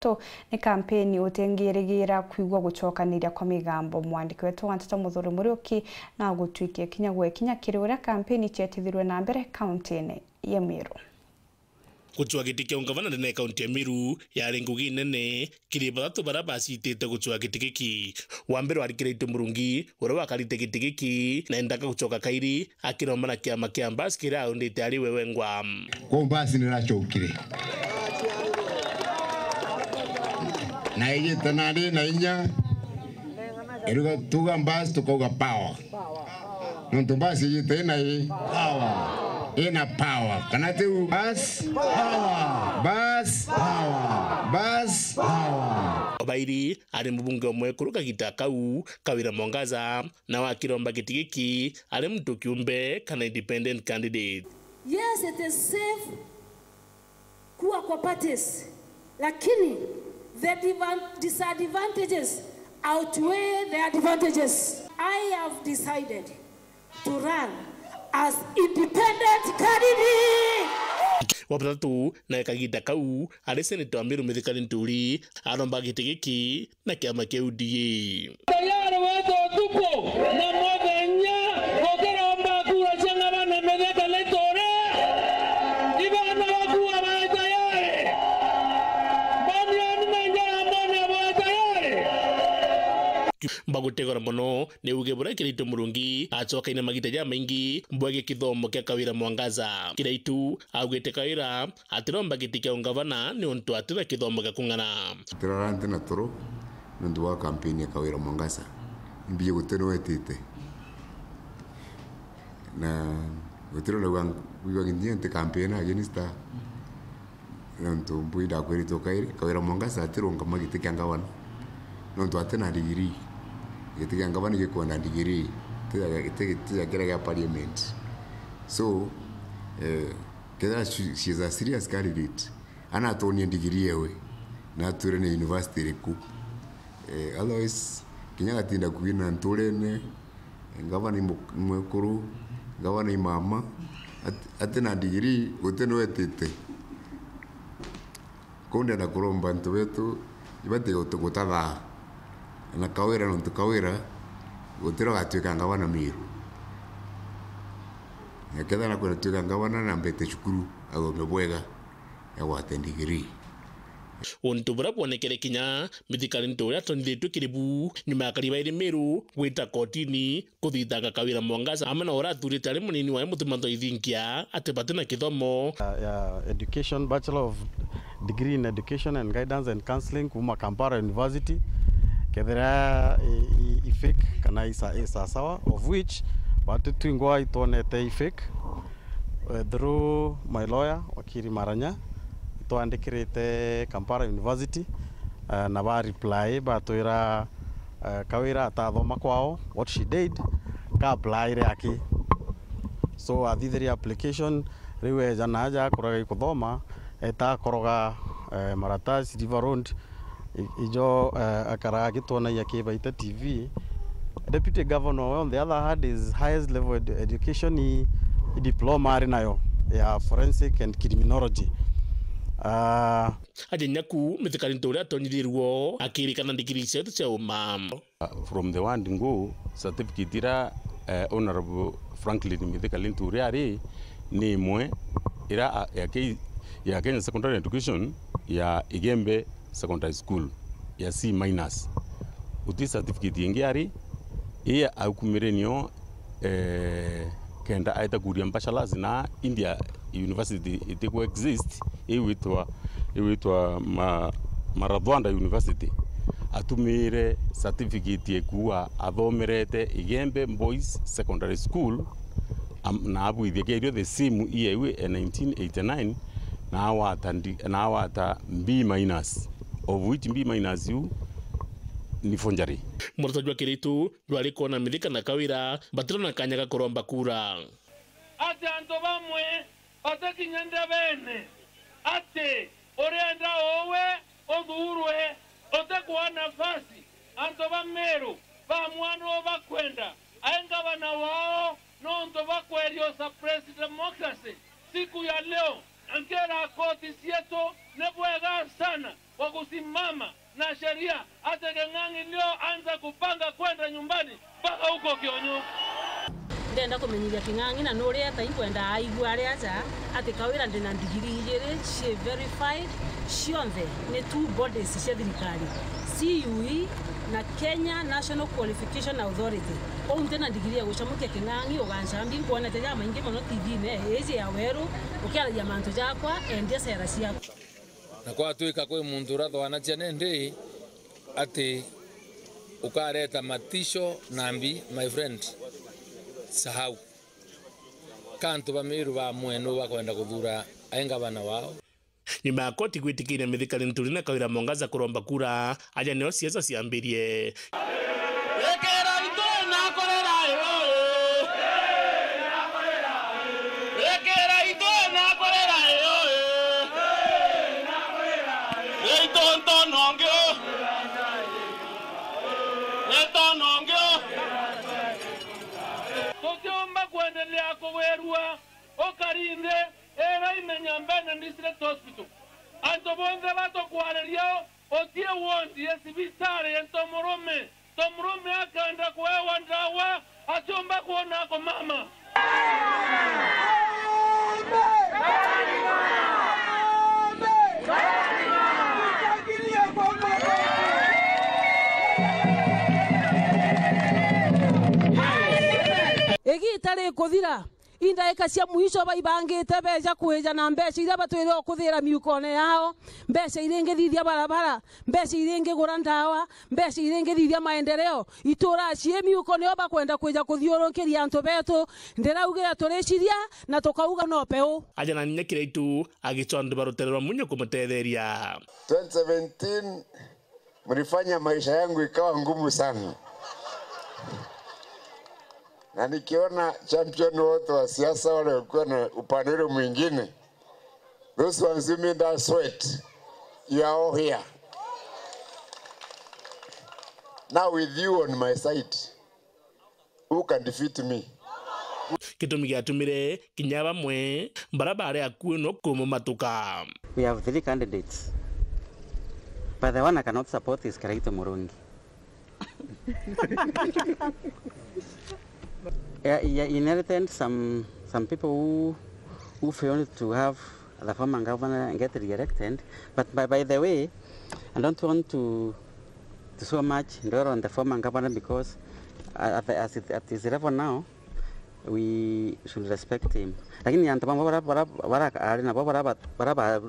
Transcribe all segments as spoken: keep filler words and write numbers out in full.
Tu ni kampeni utingirigira kwigua gucokaniria kwa migambo. Mwandiki wetu wa nteto Muthuri Muriuki na gutwikia kinya gwe kinya kiri uria kampeni cietithirwe na mbere kaunti-ini ya Meru. Gucwa giti kia ungavana ndene ya kaunti ya Meru yari ngugi nene kiri bathatu baria bacitite gucwa giti giki. Wa mbere wari Kiraitu Murungi, uria wakarite giti giki na endaga gucoka kairi, akiromba na kiama kia Mbas kiria aundite ari we wengwa. Kwou Mbas niracokire. Na ijite nari na inya. Iruga tuga Mbas tukauga power. Nontu Mbas ijite ina i power. Ina power. Kana tiu Mbas power. Mbas power. Mbas power. Obairi ari mubunge omwekuru kagita kau, Kawira Mwangaza, na wakiromba giti giki ari muntu kiumbe kana independent candidate. Yes, it is safe kuwa kwa parties, lakini the divan-, disadvantages outweigh the advantages. I have decided to run as independent candidate. Wa batatu, nawe kagita kau, ari senator wa Meru Mithika Linturi, aromba giti giki na kiama kia U D A. Tayari wete utuku na muthenya gukiromba kura cia ng'abana Mithika Linturi. Ibana bakuwa bae tayari. Baniani na Njarambone bae tayari. Bagutegora mono ni uge buria Kiraitu Murungi acokaine magita jamaingi bwegii kithomo kia Kawira Mwangaza. Kiraitu augite Kawira atiromba giti kia ungavana niuntu atina kithomo gia kung'ana. Tirara nti na toro niuntu bwa kampeni ya Kawira Mwangaza. Imbiji guti nuu wetite. Na guti nuu ndauga, kwigua nginya nti kampeni against her. Niuntu mbui ndakwiritwe kairi, Kawira Mwangaza atirungama giti kia ngavana. Niuntu atina ndigiri. Giti kia ngavana gikwenda ndigiri. Ti gia, ti, ti gia kiria gia parliament. So, eh, Kethira she, she is a serious candidate, ana atonie ndigiri yewe, na atwire ni university iriku. Eh, otherwise, kinya gatinda kwina nturene, ngavana i mu-, mwekuru, ngavana i mama, at-, atina ndigiri, guti nuu wetite. Kou ndenda kuromba antu betu, ibati gutu-, gutathaa. Na Kawira, nontu Kawira, gutira ugatwika ngavana Meru. Na kethira nakwenda twika ngavana, na mbete cukuru, athome bwega, agwate ndigiri. Untu buria bwonekere kinya Mithika Linturi uria atonyithitue kiri bu, nyuma ya akari bairi Meru gwita kotini, kuthitanga Kawira Mwangaza amwe na uria athurite ari munini wae Mutuma Nthoithingia ati bati na kithomo. Ya, ya education, Bachelor of Degree in Education and Guidance and Counselling kuuma Kampala University, kethira i, i, i fake kana i sa-, i sasawa, of which batu twingwa itwonete i fake. Eh, through my lawyer, wakiri Maranya, itwandikirite Kampala University, eh, na ba reply batwira, eh, Kawira atathoma kwao, what she did, ka applyire aki. So, athithirie application, riu eja na aja akuraga ikuthoma, eta akoroga, eh, Maratasi, River Road, i-, ijo, eh, akaraga agitwonagia ki Baita T V. Deputy Governor, on the other hand, is highest level edu-, education i, i diploma ari nayo ya forensic and criminology. Ah, Aja nyaku, Mithika Linturi uria atonyithirwo, akirikana ndigiri cietu cia uma. From the word go, certificate ira, eh, Honorable Franklin Mithika Linturi ari, ni imwe ira, a, ya Ke-, ya Kenya Secondary Education ya Igembe Secondary School ya C minus. Uti certificate ingi ari, ii aukumire nio, eh, kenda aeta kuria bachelors na India university itiku exist, iwitwa, iwitwa ma-, Marathwanda University. Atumire certificate ekuwa athomerete Igembe Boys Secondary School, am-, na abwithia kerio the same year iu e nineteen eighty-nine, na awata ndi-, na awata B minus, of which B minus iu ni forgery. Murata jwa Kiritu jwari kwona Mithika na Kawira batirona kanya ga kuromba kura. Ati antu bamwe batikinya ndebene ati urienda uwe uthuurwe, utikwa nafasi. Antu ba Meru bamwanu bakwenda ae ngavana wao nontu bakweria u suppress democracy. Siku ya leo, nkira koti cietu ni bwega sana. wa kusimama na sheria, ati King'ang'i leo anza kupanga kwenda nyumbani mpaka huko Kionyo. Ndenda kumenyiria King'ang'i na nuria eta inkwenda aigua ari aja ati Kawira ndina ndigiri ijiri cie verified, cionthe ni two bodies cia thirikari, C U E na Kenya National Qualification Authority. Uu ntina ndigiri ya gucamukia King'ang'i, ugancambi nkwonete jamaingi mono T V-ini iji ya weru ukiaragia mantu jakwa, endia cera ciaku. Na kwatwika kwi muntu urathwanacia nindi ati ukareta matisho nambi, my friend, sahau. Ka antu ba Meru ba mwenu bakwenda kuthura ai ngavana wao. Nyuma ya koti gwitikiria Mithika Linturi na Kawira Mwangaza kuromba kura, aja nio siasa ciambirie. Ekera itu na kurera iyo, eh. Ekera itu na kurera iyo, eh. Itu ntonongio. Ntonongio. Tutiumba kuendelea kugwirua ukari nthi ira imenya mbene District Hospital. Antu bonthe batukwariria utie ward ya cibitari ya ntomurume. Ntomurume akenda kuewa ndawa, atiumba kwona ako mama. Igiita rikuthira, i ndaika cia mwisho baibangite beja kwija na mbeca iria batwire o kuthira miukone yao, mbeca iria ingithithia barabara, mbeca iria ingigura ndawa, mbeca iria ingithithia maendeleo. Itura cii miuko nio bakwenda kwija kuthiurukiria antu betu. Ndiraugire turiciria na tukauga no peu. Aja na Nyinya Kiraitu agicwa antu ba rutere rwa Munyo kumutetheria. Twenty seventeen, mlifanya maisha yangu ikawa ngumu sana. Na nikiona champion wote wa siasa wale walikuwa na upande ule mwingine, those ones who made us sweat, you are all here. Now with you on my side, who can defeat me? Gitumi giatumire kinya bamwe bara bari akui no kumumatuka. We have three candidates, but the one I cannot support is Kiraitu Murungi. Yeah, he inherited some, some people who, who failed to have the former governor get re-elected. But by, by the way, I don't want to, to so much dwell on the former governor because at, at, at his level now, we should respect him. Lakini antu bamwe bara, bara, bara ari nabo bara, bara, bara,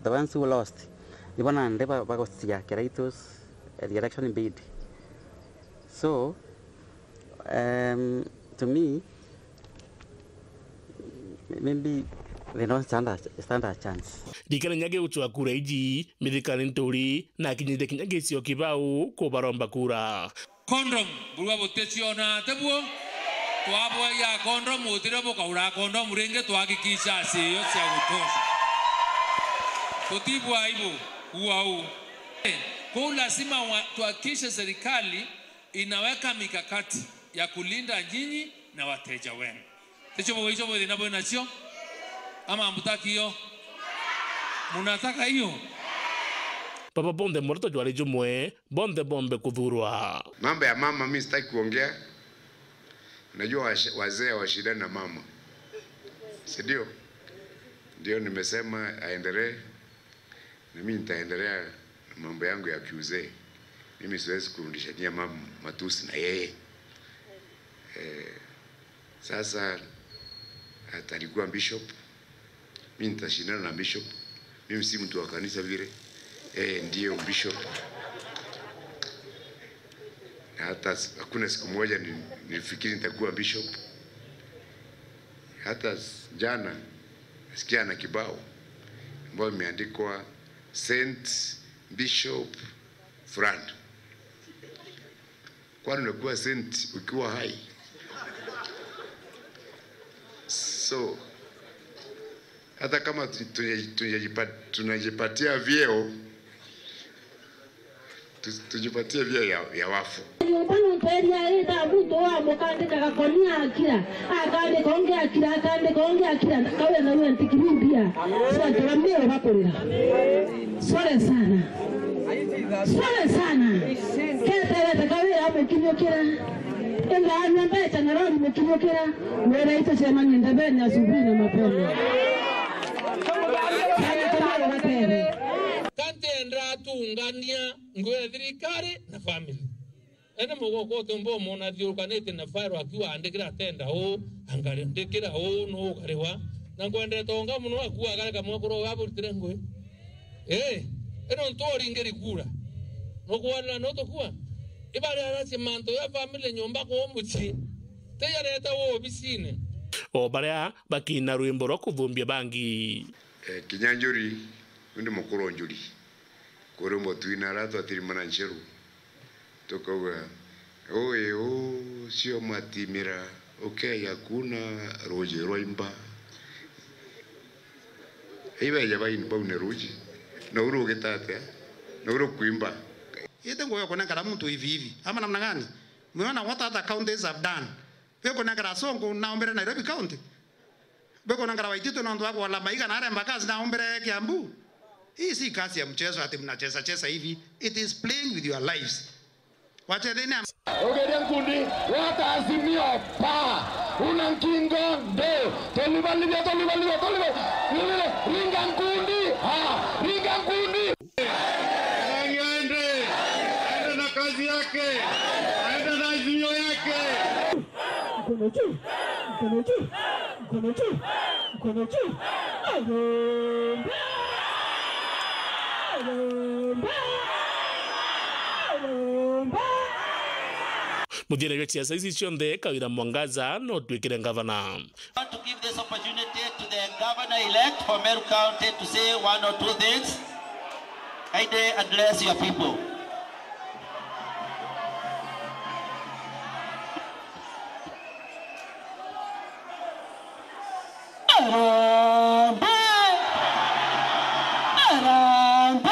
the ones who lost, nibo nandi ba, bagucia Kiraitu's re-election bid. So, um, to me, maybe they don't stand a, stand a chance. Ndikana nyage gucwa kura iji, Mithika Linturi na akinyite kinya gicio kibau kubaromba kura. Condom, burua buticiona ate buo? Twabwagia condom, utire bukaura condom ringi, twahakikisha acio cia gutosha. Tutibwa aibu, ua u. Eh, kuu lazima wa, tuhakikishe serikali inaweka mikakati ya kulinda nyinyi na wateja wenu. Ticio bugwe icio bwithina bwinacio? Ama hamtaki hiyo? Munataka hiyo? Baba bonthe muoroto jwari jumwe, bonthe bombe kuthurwa. Mambo ya mama mi sitaki kuongea. Najua wash-, wazee hawashindani na mama. Si ndio? Ndio nimesema aendelee. Na mimi nitaendelea na mambo yangu ya kiuzee. Mimi siwezi kurudishania mama matusi na yeye. Eh, sasa atalikuwa bishop. Mimi nitashindana na bishop. Mimi si mtu wa kanisa vile. Yeye ndiye bishop. Na hata s-, hakuna siku moja ni-, nilifikiri nitakuwa bishop. Hata s-, jana nasikia na kibao ambayo imeandikwa Saint Bishop Fulani. Kwani unakuwa saint ukiwa hai? So, hata kama tu-, tunajipa-, tunajipa-, tunajipatia vyeo, tu-, tujipatie vyeo ya, ya wafu. Nyomba nontu eria ii thaa muntu wa mukandika gakoni akira, akandika ungi akira, akandika ungi akira, kawe na we ntikiri mbia. Sio ntura mbio bakurira. Sore sana. Pole sana. Keterete kawira mukinyukira. Ingaanyua mbeca na rori mukinyukira. Wira itucemanie ndebeni asubuhi na mapema. Sana, tumwire gatere. Kanti enda atungania ngugi ya thirikari na family. Ene mugoko utumba umona athiurukanite na file akiuga, "Andikira atenda uu, angari ndikira uu, nu ugariwa." Na nkwendete onga muno akuuga, "Gare kamwe kuru uga burutire ngui." Ii, ino ntu uringiri kura. Nukwarira nutukua? Ibari aracia mantu ya family nyumba kuu mucii. Tiyareta wobisine. O baria bakina rwimbo rwa kuthumbia bangi. Eh, kinya njuri, undi mukuru njuri. Kuri mutwina ara twatirimana ncheru. Tukauga, "Ui ucio matimira, ukeya kuuna ruuji rwa imba." Ibeja baini baune ruuji, nau rugita atia? Nau rukwimba. Ite ngugi ya kunengera muntu hivi hivi. Ama namna gani? Mwiona what other counties have done. Bwe kunengera Sonko na umbire Nairobi County. Bwe kunengera Waititu nontu wa kuola maiga na aremba kazi na umbire Kiambu. Hii si kazi ya mchezo ati mnacheza cheza hivi. It is playing with your lives. Wachetheni am- Ugeria nkundi, waka Azimio, pa, una nkingo, ndo, tolibalibia, tolibalibia, toliba-, ringa nkundi, ha, ringa nkundi. Aende, aende na kazi yake, aende na Azimio yake. Mkono juu, mkono juu, mkono juu, mkono juu. Harambee! Harambee! Harambee! Muthiene jwa ciaca ici cionthe, Kawira Mwangaza no twikire ngavana. I want to give this opportunity to the governor-elect for Meru County to say one or two things. Kindly address your people. Harambee! Harambee!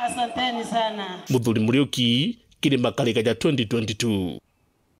Asanteni sana. Muthuri Muriuki, Kirima Karika ja twenty twenty-two.